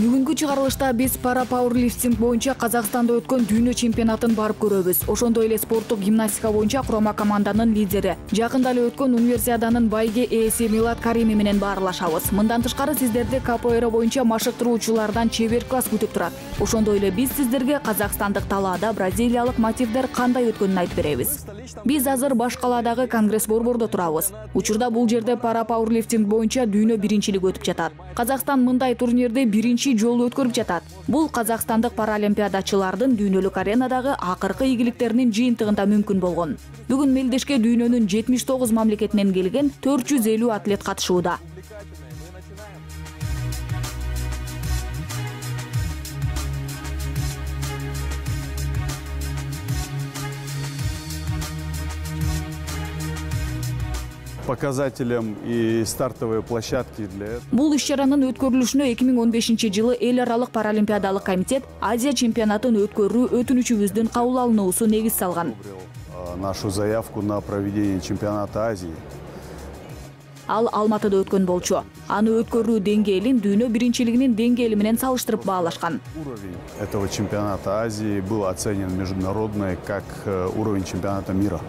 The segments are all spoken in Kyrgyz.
Бүгүнкү чыгарылышта биз пара пауэрлифтинг боюнча Казакстанда өткөн дүйнө чемпионатын барып көрөбүз. Ошондой эле спорттук гимнастика боюнча курама команданын лидери, жакында эле өткөн универсиаданын байге ээси Милад Карими менен баарлашабыз. Мындан тышкары сиздерди КПР боюнча машыктыруучулардан чебер класс күтүп турат. Ошондой эле биз сиздерге казакстандык талаада бразилиялык мотивдер кандай өткөнүн айтып беребиз. Биз азыр баш калаадагы Конгресс борбордо турабыз. Учурда бул жерде пара пауэрлифтинг боюнча дүйнө биринчилиги өтүп жатат. Казакстан мындай турнирди биринчи жолу өткөрүп жатат. Бул казакстандык паралимпиадачылардын дүйнөлүк аренадагы акыркы ийгиликтеринин жыйынтыгында мүмкүн болгон. Бүгүн мелдешке дүйнөнүн 79 мамлекетинен келген 450 атлет катышууда. Показателем и стартовые площадки для этого. Бул иш-чаранын өткөрүлүшүнө 2015-жылы эл аралык паралимпиадалык комитет Азия чемпионатын өткөрүү өтүнүчүбүздүн кабыл алынуусу негиз салган. Нашу заявку на проведение чемпионата Азии. Ал Алматыда өткөн болчу. Аны өткөрүү деңгээлин дүйнө биринчилигинин деңгээли менен салыштырып баалашкан. Уровень этого чемпионата Азии был оценен международно как уровень чемпионата мира.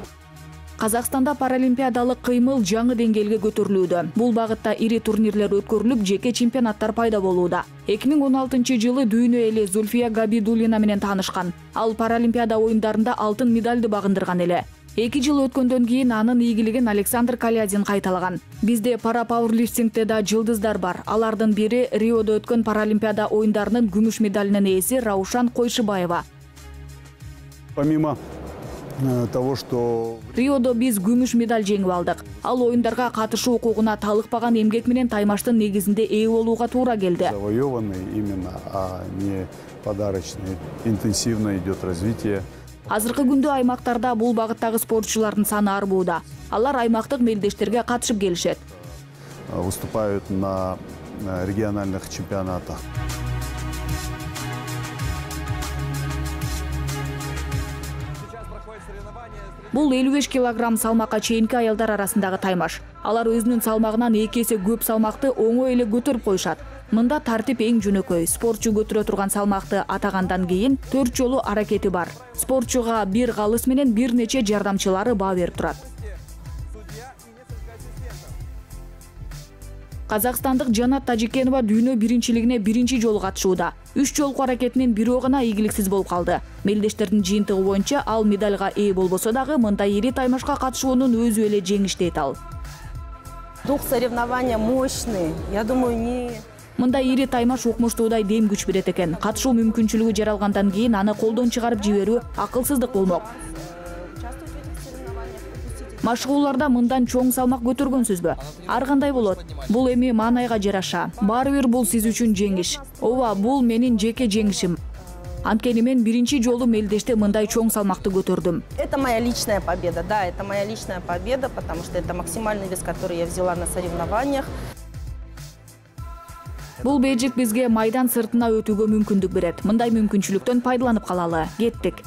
Казакстанда паралимпиадалык кыймыл жаңы деңгээлге көтөрүлүүдө. Бул багытта ири турнирлер өткөрүлүп, жеке чемпионаттар пайда болууда. 2016-жылы дүйнө эли Зульфия Габидуллина менен таанышкан. Ал паралимпиада оюндарында алтын медальды багындырган эле. 2 жыл өткөндөн кийин анын ийгилигин Александр Калядин кайталаган. Бизде пара пауэрлифтингде да жылдыздар бар. Алардын бири Риодо өткөн паралимпиада оюндарынын күмүш медалинин ээси Раушан Койшыбаева. Помимо того, что Риодо биз күмүш медаль жеңип алдык. Ал оюндарга катышуу укугуна талыкпаган эмгек менен таймаштын негизинде ээ болууга туура келди. Завоеванный именно, а не подарочный. Интенсивно идет развитие. Азыркы күндө аймактарда бул багыттагы спортчулардын саны арбууда. Алар аймактык мелдештерге катышып келишет. Выступают на региональных чемпионатах. Бул 55 килограмм салмакка чейинки аялдар арасындагы таймаш. Алар өзүнүн салмагынан 2 эсе көп салмакты оңой эле көтөрүп коюшат. Мында тартип эң жөнөкөй. Спортчу көтөрө турган салмакты атагандан кийин 4 жолу аракети бар. Спортчуга бир калыс менен бир нече жардамчылары баа берип турат. Казакстандык Жанат Тажикенова дүйнө биринчилигине биринчи жолу катышууда. 3 жолку аракетинин бирөө гана ийгиликсиз болуп калды. Мелдештердин жыйынтыгы боюнча ал медальга ээ болбосо дагы мындай ири таймашка катышуунун өзү эле жеңиш дейт ал. Дух соревнования мощный. Я думаю, не Мындай ири таймаш укмуштуудай дем күч берет экен. Катышуу мүмкүнчүлүгү жаралгандан кийин аны колдон чыгарып жиберүү акылсыздык болмок. Машыгууларда мындан чоң салмак көтөргөнсүзбү? Ар кандай болот? Бул эми маанайга жараша. Баары бир бул сиз үчүн жеңиш. Ооба, бул менин жеке жеңишим. Анткени мен биринчи жолу мелдеште мындай чоң салмакты көтөрдүм. Это моя личная победа. Да, это моя личная победа, потому что это максимальный вес, который я взяла на соревнованиях. Бул бейжик бизге майдан сыртына өтүүгө мүмкүндүк берет. Мындай мүмкүнчүлүктөн пайдаланып калалы. Кеттик.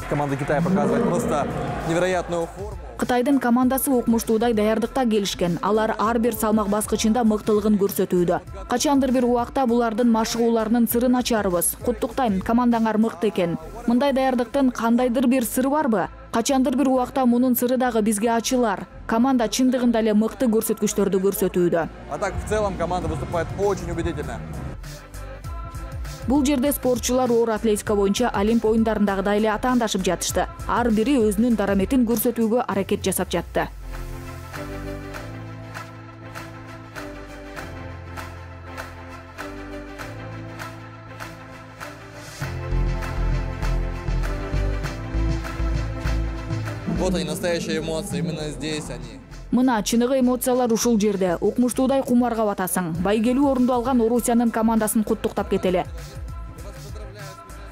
Команда Китая показывает просто невероятную форму. Кытайдын командасы укмуштуудай даярдыкта келишкен. Алар ар бир салмак баскычында мыктылыгын көрсөтүүдө. Качандыр бир убакта булардын машыгууларынын сырын ачарбыз. Куттуктайм, командаңар мыкты экен. Мындай даярдыктын кандайдыр бир сыры барбы? Качандыр бир убакта мунун сыры дагы бизге ачылар. Команда чындыгында эле мыкты көрсөткүчтөрдү көрсөтүүдө. А так в целом команда выступает очень убедительно. Бул жерде спортчулар оор атлетика боюнча Олимп оюндарындагыдай эле атаандашып жатышты. Ар бири өзүнүн дараметин көрсөтүүгө аракет жасап жатты. Вот они, настоящие эмоции, именно здесь они. Мына чыныгы эмоциялар ушул жерде. Укмуштуудай кумарга батасың. Байгелүү орунду алган Орусиянын командасын куттуктап кетели.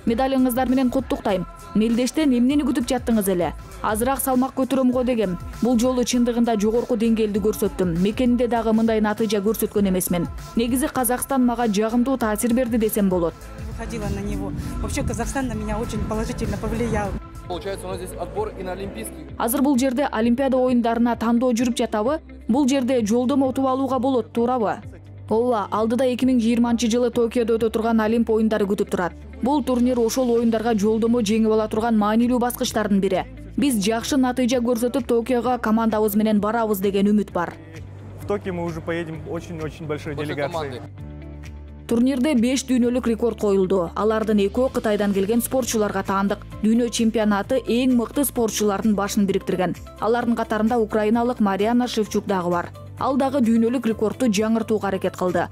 Медалыңыздар менен куттуктайм. Мелдештен эмнени күтүп жаттыңыз эле? Азыраак салмак көтөрөм го дегем. Бул жолу чындыгында жогорку деңгээлди көрсөттүм. Мекенинде дагы мындай натыйжа көрсөткөн эмесмин. Негизи Казакстан мага жагымдуу таасир берди десем болот. Выходила на него. Вообще Казахстан на меня очень положительно повлиял. Получается, у нас здесь отбор и на Олимпийский. Азыр бул жерде Олимпиада оюндарына тандоо жүрүп жатабы? Бул жерде жолдомо утуп алууга болот, туурабы? Ооба, алдыда 2020-жылы Токиодо өтө турган Олимп оюндары күтүп турат. Бул турнир ошол оюндарга жолдомо жеңип ала турган маанилүү баскычтардын бири. Биз жакшы натыйжа көрсөтүп Токиого командабыз менен барабыз деген үмүт бар. В Токио мы уже поедем очень-очень большой делегацией. Турнирде 5 дүйнөлүк рекорд коюлду. Алардын 2 Кытайдан келген спортчуларга таандык. Дүйнө чемпионаты эң мыкты спортчулардын башын бириктирген. Алардын катарында украиналык Мариана Шевчук дагы бар. Ал дагы дүйнөлүк рекордду жаңыртууга аракет кылды.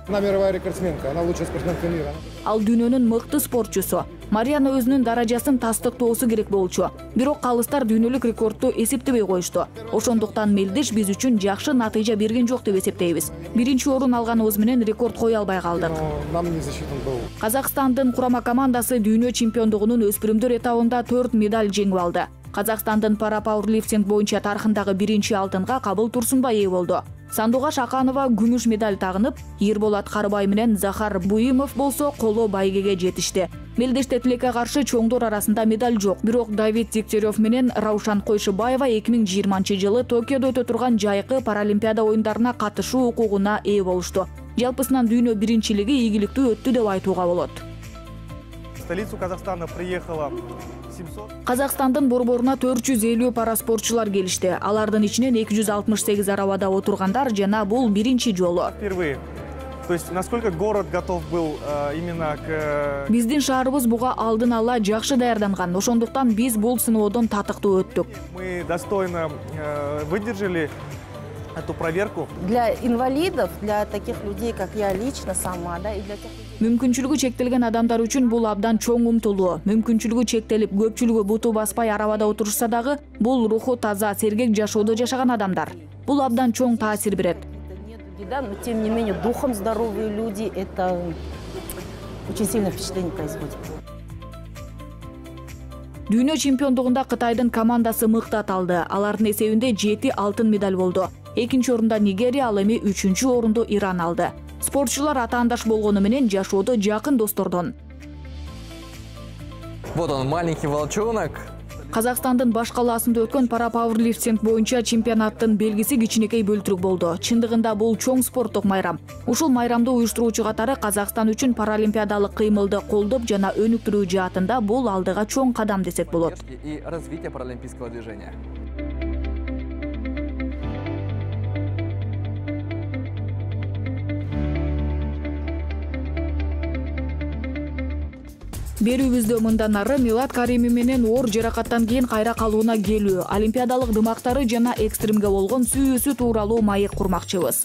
Она мировая рекордсменка, она лучшая спортсменка мира. Ал дүйнөнүн мыкты спортчусу. Мариана өзүнүн даражасын тастыктоосу керек болчу. Бирок калыстар дүйнөлүк рекордду эсептебей коюшту. Ошондуктан Мелдеш биз үчүн жакшы натыйжа берген жок деп эсептейбиз. Биринчи орун алганыбыз менен рекорд кое албай калдык. Нам не засчитан был. Казакстандын курама командасы дүйнө чемпиондугунун өспүрүмдөр этабында 4 медаль жеңип алды. Казакстандын пара-пауэрлифтинг боюнча тарыхындагы биринчи алтынга Кабыл Турсунбай ээ болду. Сандугаш Аканова күмүш медаль тагынып, Ерболат Карыбай менен Захар Буимов болсо коло байгеге жетишти. Мелдеште тилекке каршы чоңдор арасында медаль жок. Бирок Давид Дегтярев менен Раушан Койшубаева 2020-жылы Токиодо өтө турган жайкы паралимпиада оюндарына катышуу укугуна ээ болушту. Жалпысынан дүйнө биринчилиги ийгиликтүү өттү деп айтууга болот. В столицу Казахстана приехало 700. Казакстандын борборуна 450 пара спортчулар келишти. Алардын ичинен 268 арабада отургандар жана бул биринчи жолу. Впервые. То есть, насколько город готов был именно к... Биздин шаарыбыз буга алдын ала жакшы даярданган. Ошондуктан биз бул сыноодон татыктуу өттүк. Мы достойно выдержали эту проверку. Для инвалидов, для таких людей, как я лично сама, да, и для тех людей... Мүмкүнчүлүгү чектелген адамдар үчүн бул абдан чоң умтулуу. Мүмкүнчүлүгү чектелип, көпчүлүгү буту баспай арабада отурушса дагы, бул руху таза, сергек жашоодо жашаган адамдар. Бул абдан чоң таасир берет. Да, но тем не менее духом здоровые люди, это очень сильное впечатление производит. Дүйнө чемпиондугунда Кытайдын командасы мыктат алды. Алардын эсебинде 7 алтын медаль болду. Экинчи орунда Нигерия, ал эми 3-чү орунду Иран алды. Спортчулар атаандаш болгону менен жашоодо жакын достордон. Вот он, маленький волчонок. Казакстандын баш калаасында өткөн пара-пауэрлифтинг боюнча чемпионаттын белгиси кичинекей бөлтүрүк болду. Чындыгында бул чоң спорттук майрам. Ушул майрамды уюштуруучу катары Казакстан үчүн паралимпиадалык кыймылды колдоп жана өнүктүрүү жаатында бул алдыга чоң кадам десек болот. И развитие паралимпийского движения. Берүүбүздө мындан ары Милат Каримов менен оор жаракаттан кийин кайра калууна келүү, олимпиадалык дымактары жана экстримге болгон сүйүүсү тууралуу маек курмакчыбыз.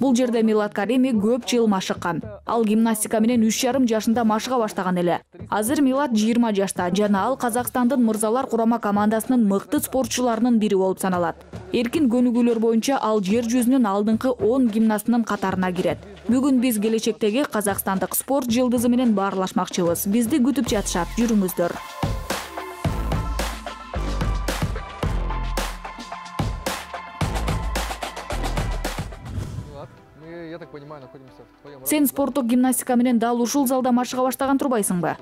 Бул жерде Милат Каримов көп жыл машыккан. Ал гимнастика менен 3,5 жашында машыга баштаган эле. Азыр Милат 20 жашта жана ал Казакстандын мырзалар курама командасынын мыкты спортчуларынын бири болуп саналат. Эркин көнүгүүлөр боюнча ал жер жүзүнүн алдыңкы 10 гимнастынын катарына кирет. Бүгүн биз келечектеги казакстандык спорт жылдызы менен баарлашмакчыбыз. Бизди күтүп жатышат. Жүрүңүздөр. Я так понимаю, находимся в твоем... Сен спорттук гимнастика менен дал ушул залда машыга баштаган турбайсыңбы?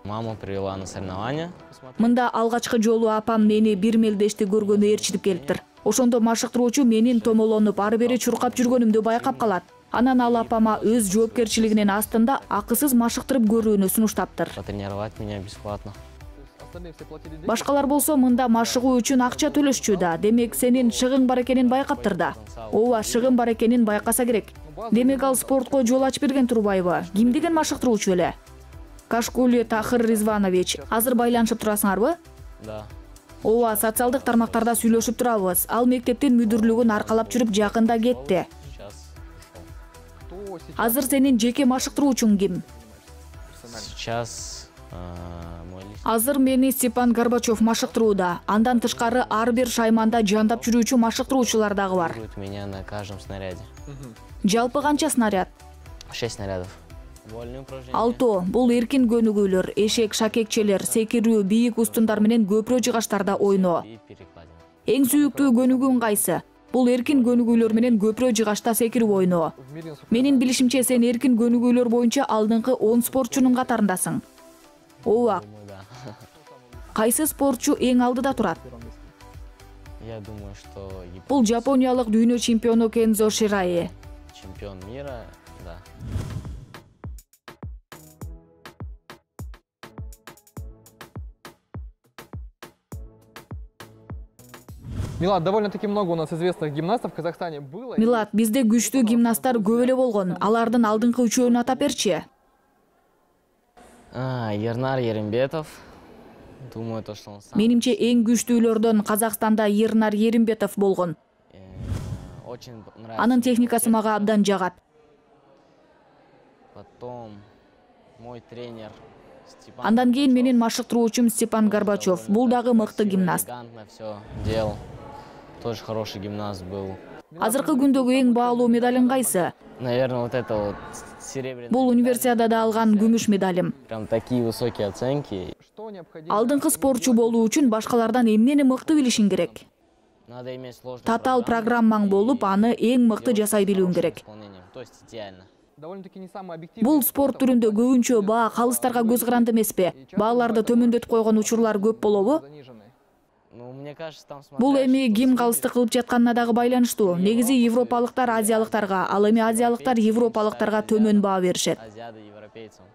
Мама привела на соревнования. Мында алгачкы жолу апам мени бир мелдешти көргөнү ээрчитип келиптир. Ошондо машыктыруучу менин томолонуп ары бери чуркап жүргөнүмдү байкап калат. Анан ал апама өз жоопкерчилигинин астында акысыз машыктырып көрүүнү сунуштаптыр. Потренировать меня бесплатно. Башкалар болсо мында машыгуу үчүн акча төлөшчү да. Демек сенин шыгың бар экенин байкаптыр да. Ооба, шыгым бар экенин байкаса керек. Демек ал спортко жол ачып берген турбайбы? Ким деген машыктыруучу эле? Кашкули Тахир Ризванович, азыр байланышып турасыңарбы? Да. Ооба, социалдык тармактарда сүйлөшүп турабыз. Ал мектептин мүдүрлүгүн аркалап жүрүп жакында кетти. Азыр сенин жеке машыктыруучуң ким? Сейчас Азыр мени Степан Горбачев машыктырууда. Андан тышкары ар бир шайманда жандап жүрүүчү машыктыруучулар дагы бар. меня на каждом снаряде. Жалпы канча снаряд? 6 снарядов. Вольные упражнения. Алто, бул эркин көнүгүүлөр, эшек, шакекчелер, секирүү, бийик устундар менен көпүрө жыгачтарда ойноо. И перекладина. Эң сүйүктүү көнүгүүң кайсы? Бул эркин көнүгүүлөр менен көпүрө жыгачта секирип ойноо. Менин билишимче сен эркин көнүгүүлөр боюнча алдыңкы 10 спортчунун катарындасың. Ооба. кайсы спортчу эң алдыда турат? Я думаю, что Бул жапониялык дүйнө чемпиону Кензо Шираи. чемпион мира, да. Милад, довольно-таки много у нас известных гимнастов в Казахстане было. Милат, бизде күчтүү гимнасттар көп эле болгон. Алардын алдыңкы үчөөнү атап берчи. Ернар Еримбетов. Думаю, то, что он сам Менимче эң күчтүүлөрдөн Казакстанда Ернар Еримбетов болгон. очень нравится. Анын техникасы мага абдан жагат. Потом мой тренер Степан. Андан кийин менин машыктыруучум Степан Горбачев. Бул дагы мыкты гимнаст. Элегантно все делал. Тоже хороший гимнаст был. Азыркы күндөгү эң баалуу медалың кайсы? Наверное, вот это вот серебряный. Бул универсиадада алган күмүш медалим. Прям такие высокие оценки. Что необходимо? Алдыңкы спортчу болуу үчүн башкалардан эмнени мыкты билишиң керек? Надо иметь сложную Татаал программаң болуп, аны эң мыкты жасай билүүң керек. То есть идеально. Довольно-таки не самый объективный. Бул спорт түрүндө көбүнчө баа калыстарга көз каранды эмеспи? Бааларды төмөндөтүп койгон учурлар көп болобу? Заниженный. Ну, мне кажется, там Бул смотря, эми что ким судьи- калыстык кылып жатканына дагы байланыштуу. Негизи европалыктар азиялыктарга, ал эми азиялыктар европалыктарга төмөн баа беришет. Азиады европейцам.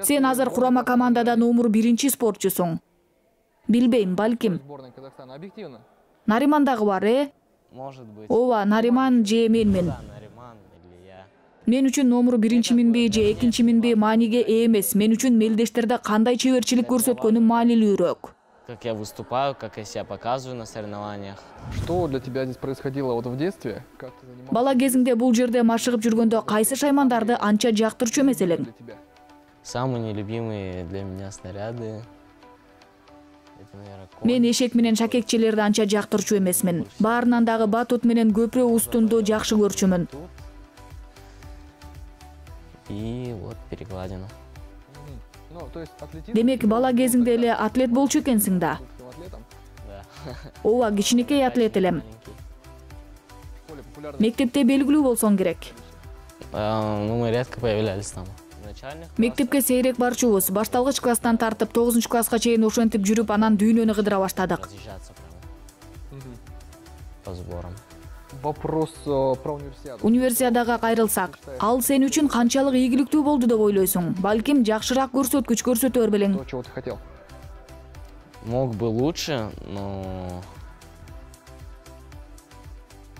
Сен азыр курама командада номер 1 спортчусуң. Билбейм, балким. Сборная Казахстана. Объективно. Нариман дагы бар, Может быть. Ооба, Нариман же менмин. Да, Нариман или я. Мен үчүн номер 1 минби же 2 минби мааниге ээ эмес. Мен үчүн мелдештерде кандай чеберчилик көрсөткөнүм маанилүүрөөк. Как я выступаю, как я себя показываю на соревнованиях. Что для тебя здесь происходило вот в детстве? Как ты занимался? Бала кезиңде бул жерде машыгып жүргөндө кайсы шаймандарды анча жактырчу эмес элең? Для тебя. Самые нелюбимые для меня снаряды. Это, наверное, Мен эшек менен шакекчелерди анча жактырчу эмесмин. Баарынан дагы батут менен көпүрө устунду жакшы көрчүмүн. и вот перекладину. Ну, то есть атлетизм. Демек, бала кезиңде эле атлет болчу экенсиң да. Был атлетом. Да. Ооба, кичинекей атлет элем. Маленький. В школе популярный. Мектепте белгилүү болсоң керек. Ну, мы редко появлялись там. В начальных Мектепке сейрек барчубуз. Башталгыч класстан тартып 9-класска чейин ошентип жүрүп, анан дүйнөнү кыдыра баштадык. разъезжаться прямо Мгм. по сборам. Вопрос про универсиаду. Универсиадага кайрылсак, ал сен үчүн канчалык ийгиликтүү болду деп ойлойсуң? Балким жакшыраак көрсөткүч көрсөтө бербелең. То, чего ты хотел. Мог бы лучше, но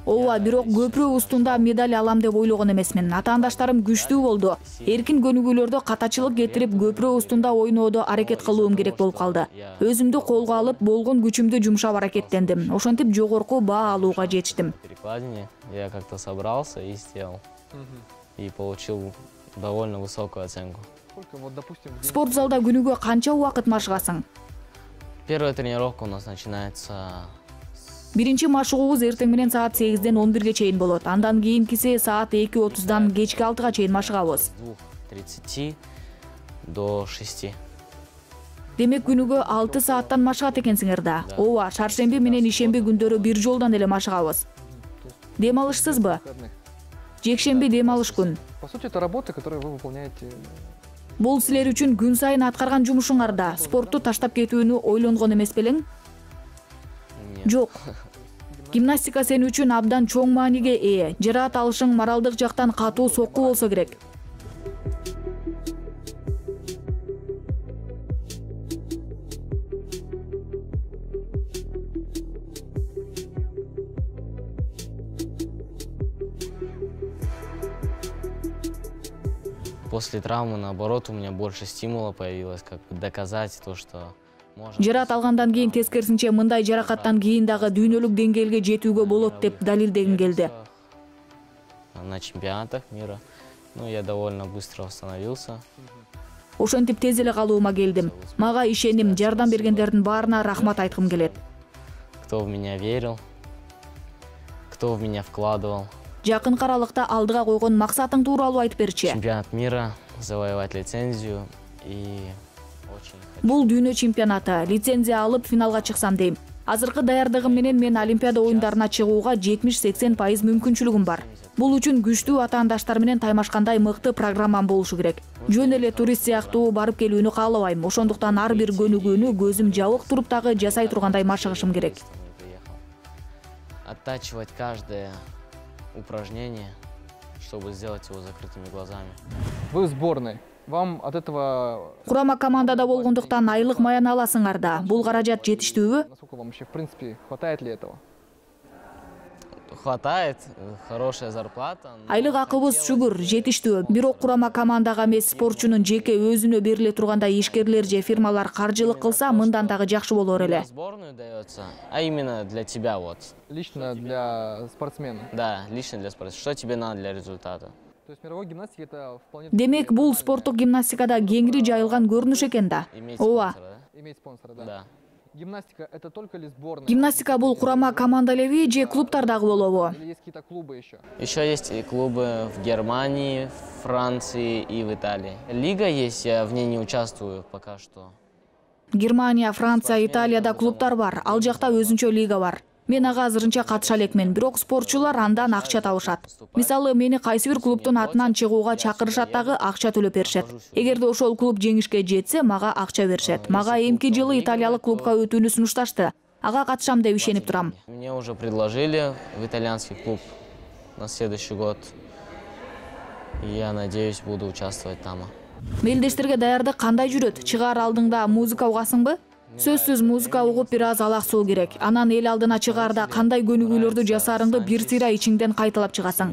Ооба, бирок көпүрө устунда медаль алам деп ойлогон эмесмин. Атаандаштарым күчтүү болду. Эркин көнүгүүлөрдө катачылык кетирип, көпүрө устунда ойноодо аракет кылуум керек болуп калды. Өзүмдү колго алып, болгон күчүмдү жумшап аракеттендим. Ошентип жогорку баа алууга жетиштим. в перекладине я как-то собрался и сделал. Мгм. И получил довольно высокую оценку. Сколько, вот, допустим, в день Спорт залда күнүгө канча убакыт машыгасың? Первая тренировка у нас начинается Биринчи машыгуубуз эртең менен саат 8-ден 11-ге чейин болот. Андан кийинкиси саат 2:30-дан кечки 6-га чейин машыгабыз. с 2:30 до 6. Демек күнүгө 6 сааттан машыгат экенсиңер да. Ооба, шаршемби менен ишемби күндөрү бир жолдон эле машыгабыз. Дем алышсызбы? выходных. Жекшемби дем алыш күн. По сути, это работа, которую вы выполняете. Бул силер үчүн күн сайын аткарган жумушуңар да. Спортту таштап кетүүнү ойлонгон эмес белең? Нет. Жок. Гимнастика сен үчүн абдан чоң мааниге ээ. Жараат алышың моралдык жактан катуу сокку болсо керек. После травмы, наоборот, у меня больше стимула появилось, как бы доказать то, что можно. Жараат алгандан кийин тескерисинче мындай жаракаттан кийин дагы дүйнөлүк деңгээлге жетүүгө болот деп далилдегим келди. На чемпионатах мира. Ну, я довольно быстро восстановился. Ошентип тез эле калуума келдим. Мага ишеним, жардам бергендердин баарына рахмат айткым келет. Кто в меня верил, кто в меня вкладывал. Жакын аралыкта алдыга койгон максатың тууралуу айтып берчи. Чемпионат мира, завоевать лицензию и очень хочу. Бул дүйнө чемпионаты, лицензия алып финалга чыксам дейм. Азыркы даярдыгым менен мен Олимпиада оюндарына чыгууга 70-80% мүмкүнчүлүгүм бар. Бул үчүн күчтүү атаандаштар менен таймашкандай мыкты программам болушу керек. Жөн эле турист сыяктуу барып келүүнү каалабайм. Ошондуктан ар бир көнүгүүнү көзүм жабык туруп дагы жасай тургандай машыгышым керек. Оттачивать каждое упражнение, чтобы сделать его закрытыми глазами. Вы в сборной. Вам от этого... Курама командада болгондуктан айлык маян аласыңар да. Бул каражат жетиштүүбү? Насколько вам вообще, в принципе, хватает ли этого? Хватает, хорошая зарплата. Айлык акыбыз шүгүр, жетиштүү. Бирок курама командага эмес, спортчунун жеке өзүнө бериле тургандай ишкерлер же фирмалар каржылык кылса, мындан дагы жакшы болор эле. Сборную дается, а именно для тебя вот. Лично для спортсмена? Да, лично для спортсмена. Что тебе надо для результата? То есть мировой гимнастики это вполне... Демек, бул спорттук гимнастикада кеңири жайылган көрүнүш экен да. Ооба. Иметь спонсора, да. Гимнастика это только ли сборная? Гимнастика бул курама командалеви же клубтар дагы болобу? Или есть какие-то клубы еще? Еще есть и клубы в Германии, в Франции и в Италии. Лига есть, я в ней не участвую пока что. Германия, Франция, Италияда клубтар бар. Ал жакта өзүнчө лига бар. Мен ага азырынча катыша элекмин, бирок спортчулар андан акча табышат. Мисалы, мени кайсы бир клубтун атынан чыгууга чакырышат дагы акча төлөп беришет. Эгерде ошол клуб жеңишке жетсе, мага акча беришет. Мага эмки жылы италиялык клубка өтүүнү сунушташты. Ага катышам деп ишенип турам. Мне уже предложили в итальянский клуб на следующий год. Я надеюсь, буду участвовать там. Мелдештерге даярдык кандай жүрөт? Чыгаар алдыңда музыка угасыңбы? Сөзсүз музыка угуп бир аз алаксуу керек. Анан эл алдына чыгаарда кандай көнүгүүлөрдү жасаарыңды бир сыйра ичиңден кайталап чыгасың.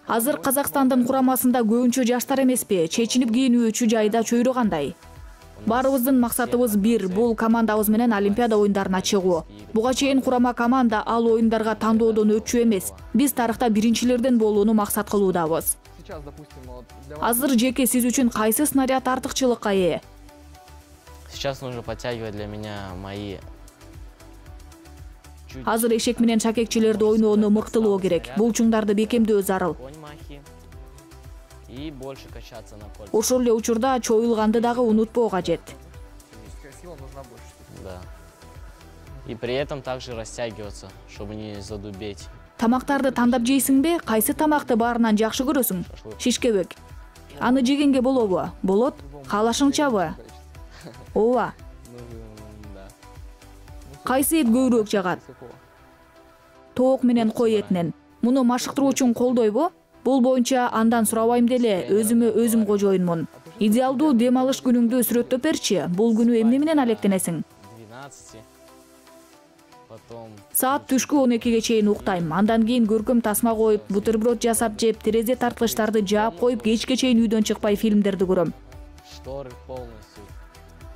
Азыр Казакстандын курамасында көбүнчө жаштар эмеспи? Чечинип кийинүүчү жайда чөйрө кандай? Барыбыздын максатыбыз бир, бул командабыз менен Олимпиада оюндарына чыгуу. Буга чейин курама команда ал оюндарга тандоодон өтчү эмес. Биз тарыхта биринчилерден болууну максат кылуудабыз. Азыр жеке сиз үчүн кайсы снаряд артыкчылыкка ээ? Сейчас нужно подтягивать для меня мои... Азыр эшек менен шакекчилерди ойноону мыктылоо керек. Булчуңдарды бекемдөө зарыл. И больше качаться на кольцах. Ошол эле учурда чоюлганды дагы унутпоо кажет. Да. И при этом также растягиваться, чтобы не задубеть. Тамактарды тандап жейсиңби? Кайсы тамакты баарынан жакшы көрөсүң? Шишкебек. Аны жегенге болобу? Болот? Каалашыңчабы? Ооба. Кайсы эт көбүрөөк жагат? Тоок менен кой этинен. Муну машыктыруу үчүн колдойбу? Бул боюнча андан сурабайм деле, өзүм кожоюнмун. Идеалдуу дем алыш күнүңдү сүрөттөп берчи. Бул күнү эмне менен алектенесиң? 12. Саат түшкү 12ге чейин уктайм. Андан кийин көркөм тасма коюп, бутерброд жасап жеп, терезе тарткычтарды жаап коюп, кечке чейин үйдөн чыкпай фильмдерди көрөм. Шторы полностью,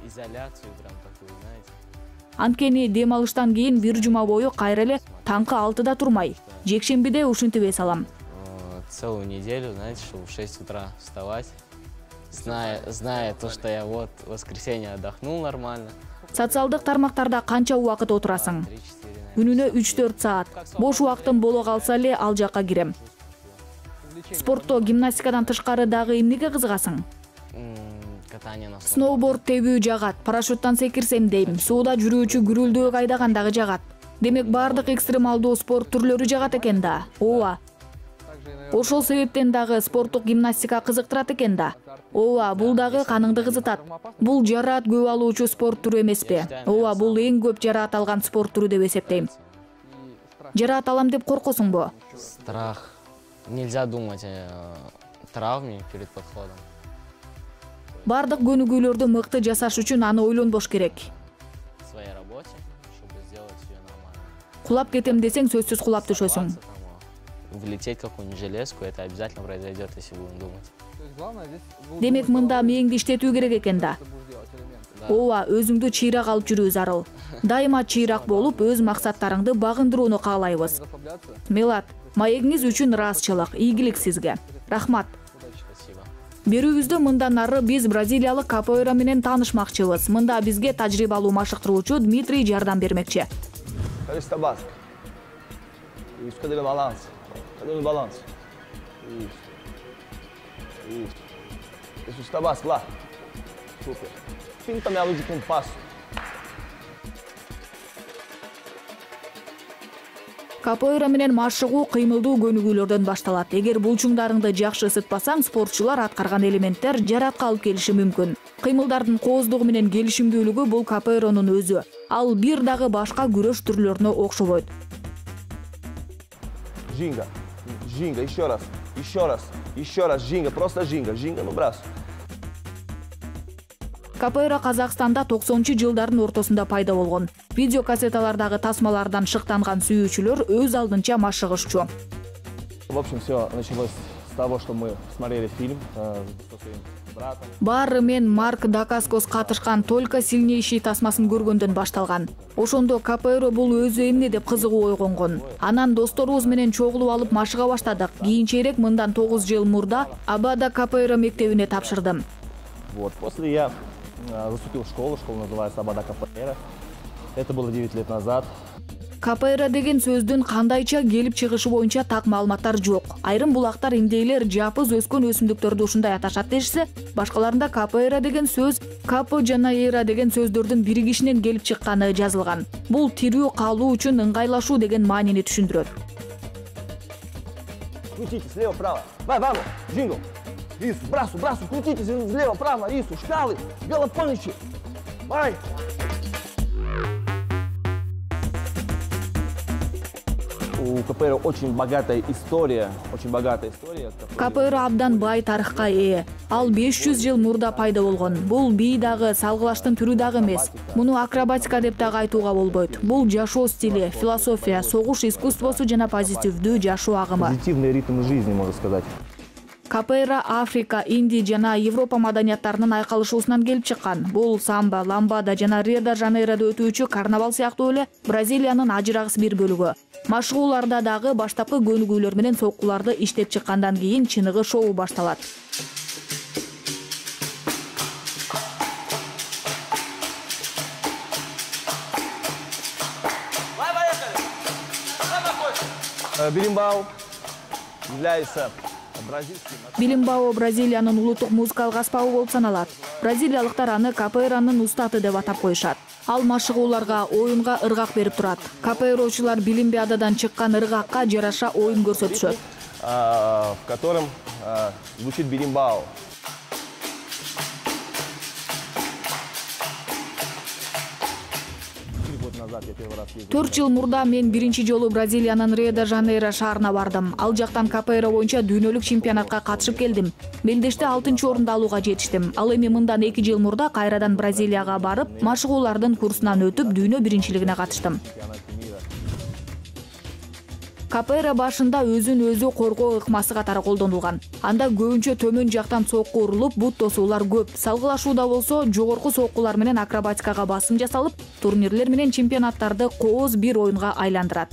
изоляцию прям такую, знаете. Анткени дем алыштан кийин бир жума бою кайра эле таңкы 6-да турмай. Жекшембиде ушинтип эс алам. Целую неделю, знаете, чтобы в 6 утра вставать, зная то, что я вот в воскресенье отдохнул нормально. Социалдык тармактарда канча убакыт отурасың? Күнүнө 3-4 саат. Бош убактым боло калса эле ал жакка кирем. Спортто гимнастикадан тышкары дагы эмнеге кызыгасың? Катание на сноуборд тебүү жагат, парашюттан секирсем дейм, сууда жүрүүчү күрүлдөк айдаган дагы жагат. Демек баардык экстремалдуу спорт түрлөрү жагат экен да. Ооба. Ошол себептен дагы спорттук гимнастика кызыктырат экен да. Ооба, бул дагы каныңды кызытат. Бул жараат көп алуучу спорт түрү эмеспи? Ооба, бул эң көп жараат алган спорт түрү деп эсептейм. Жараат алам деп коркосуңбу? Страх. Нельзя думать о травме перед подходом. Бардык көнүгүүлөрдү мыкты жасаш үчүн аны ойлонбош керек. В своей работе, чтобы сделать её нормально. Кулап кетем десең, сөзсүз кулап түшөсүң. Влететь в какую-нибудь железку, это обязательно произойдет, если будем думать. Демек, мында мээңди иштетүү керек экен да. Ооба, өзүңдү чыйрак алып жүрүү зарыл. Дайыма чыйрак болуп, өз максаттарыңды багындырууну каалайбыз. Мелат, маегиңиз үчүн ыраазычылык, ийгилик сизге. Рахмат. Берүүбүздө мындан ары биз бразилиялык капоэйра менен таанышмакчыбыз. Мында бизге тажрыйбалуу машыктыруучу Дмитрий жардам бермекчи. Cadê o balanço? Cadê o balanço? Isso. Isso. Isso está básico lá. Super. Pinta minha luz de compasso. Капоэйра менен машыгуу кыймылдуу көнүгүүлөрдөн башталат. Эгер булчуңдарыңды жакшы ысытпасаң, спортчулар аткарган элементтер жаратка алып келиши мүмкүн. Кыймылдардын кооздугу менен келишимдүүлүгү бул капоэйранын өзү. Ал бир дагы башка күрөш түрлөрүнө окшобойт. Жинга, жинга, еще раз, жинга, просто жинга, ну брас. Капоэйра Казакстанда 90-жылдардын ортосунда пайда болгон. Видео кассеталардагы тасмалардан шыктанган сүйүүчүлөр өз алдынча машыгышчу. В общем, все началось с того, что мы смотрели фильм со своим братом. Баары мен Марк Дакаскос катышкан «Только сильнейший» тасмасын көргөндөн башталган. Ошондо капоэйра бул өзү эмне деп кызыгуу ойгонгон. Анан досторубуз менен чогулуп алып машыга баштадык. Кийинчерээк мындан 9 жыл мурда Абада капоэйра мектебине тапшырдым. Вот, после я заступил в школу называется Абада капоэйра. Это было 9 лет назад. Капоэйра деген сөздүн кандайча келип чыгышы боюнча так маалыматтар жок. Айрым булактар индейлер жапыз өскөн өсүмдүктөрдү ушундай аташат дешсе, башкаларында капоэйра деген сөз капо жана эйра деген сөздөрдүн биригишинен келип чыкканы жазылган. Бул тирүү калуу үчүн ыңгайлашуу деген маанини түшүндүрөт. Крутите слева-право. Vai, vamos, jingle. Isso, braço, крутите слева-право, isso, шкалы, велопанчи. Vai. У капоэйра очень богатая история. Капоэйра абдан бай тарыхка ээ. Ал 500 жыл мурда пайда болгон. Бул бий дагы, салгылаштын түрү дагы эмес. Муну акробатика деп дагы айтууга болбойт. Бул жашоо стили, философия, согуш искусствосу жана позитивдүү жашоо агымы. Позитивный ритм жизни, можно сказать. Капоэйра Африка, Индия жана Европа маданияттарынын айкалышуусунан келип чыккан. Бул самба, ламбада жана Рио-де-Жанейрода өтүүчү карнавал сыяктуу эле Бразилиянын ажырагыс бир бөлүгү. Машыгууларда дагы баштапкы көнүгүүлөр менен соккуларды иштеп чыккандан кийин чыныгы шоу башталат. Билимбау является Билимбао Бразилиянын улуттук музыкалык аспабы болуп саналат. Бразилиялыктар аны капоэйранын устаты деп атап коюшат. Ал машыгууларга, оюнга ыргак берип турат. Капоэйрочулар Билимбиададан чыккан ыргакка жараша оюн көрсөтүшөт. В котором звучит билимбао. 4 жыл мурда мен биринчи жолу Бразилиянын Рио-де-Жанейро шаарына бардым. Ал жактан капоэйра боюнча дүйнөлүк чемпионатка катышып келдим. Мелдеште 6-орунду алууга жетиштим. Ал эми мындан 2 жыл мурда кайрадан Бразилияга барып, машыгуулардын курсунан өтүп, дүйнө биринчилигине катыштым. Капоэйра башында өзүн өзү коргоо ыкмасы катары колдонулган. Анда көбүнчө төмөн жактан сокку урулуп, бут тосуулар көп. Салгылашууда болсо, жогорку соккулар менен акробатикага басым жасалып, турнирлер менен чемпионаттарды кооз бир оюнга айландырат.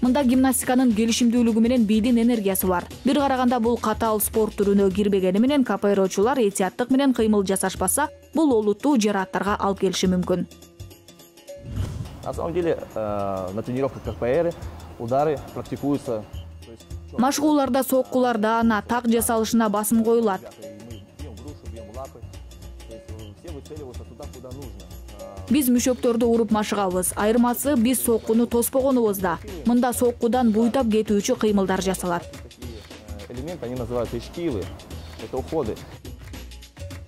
Мында гимнастиканын келишимдүүлүгү менен бийдин энергиясы бар. Бир караганда бул катаал спорт түрүнө кирбегени менен капоэйрочулар этияттык менен кыймыл жасашпаса, бул олуттуу жарааттарга алып келиши мүмкүн. На самом деле, на тренировках капоэйры удары практикуются. Машыгууларда соккулар даана, так жасалышына басым коюлат. Биз мүшөктөрдү уруп машыгабыз. Айырмасы биз соккуну тоспогонубузда. Мында соккудан буйтап кетүүчү кыймылдар жасалат. Элемент они называются эшкивы. Это уходы.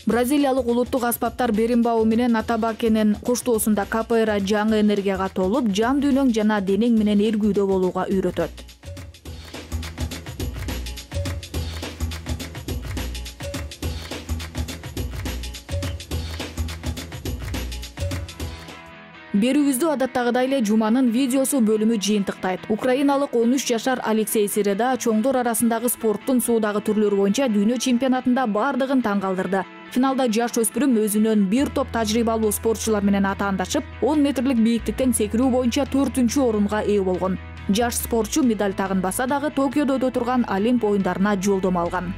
Бразилиялык улуттук аспаптар беримбау менен атабакенин коштоосунда капоэйра жаңы энергияга толуп, жан дүйнөң жана денең менен эргүүдө болууга үйрөтөт. Берүүбүздү адаттагыдай эле жуманын видеосу бөлүмү жыйынтыктайт. Украиналык 13 жашар Алексей Середа чоңдор арасындагы спорттун суудагы түрлөрү боюнча дүйнө чемпионатында бардыгын таң калтырды. Финалда жаш өспүрүм өзүнөн бир топ тажрыйбалуу спортчулар менен атаандашып, 10 метрлик бийиктиктен секирүү боюнча 4-орунга ээ болгон. Жаш спортчу медаль тагынбаса дагы Токиодо өтө турган Олимп оюндарына жолдомо алган.